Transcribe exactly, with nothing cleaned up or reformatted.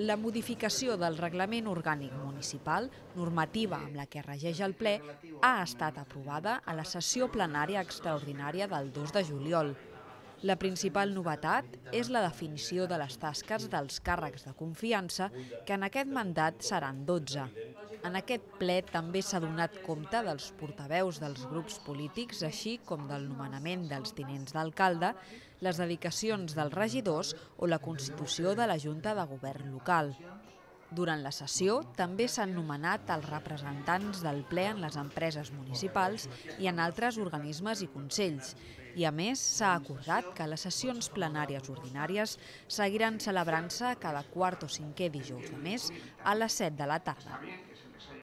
La modificació del Reglament Orgànic Municipal, normativa amb la que regeix el ple, ha estat aprovada a la sessió plenària extraordinària del dos de juliol. La principal novetat és la definició de les tasques dels càrrecs de confiança, que en aquest mandat seran dotze. En aquest ple també s'ha donat compte dels portaveus dels grups polítics, així com del nomenament dels tinents d'alcalde, les dedicacions dels regidors o la constitució de la Junta de Govern local. Durant la sessió també s'han nomenat els representants del ple en les empreses municipals i en altres organismes i consells. I a més s'ha acordat que les sessions plenàries ordinàries seguiran celebrant-se cada quart o cinquè dijous de mes a les set de la tarda.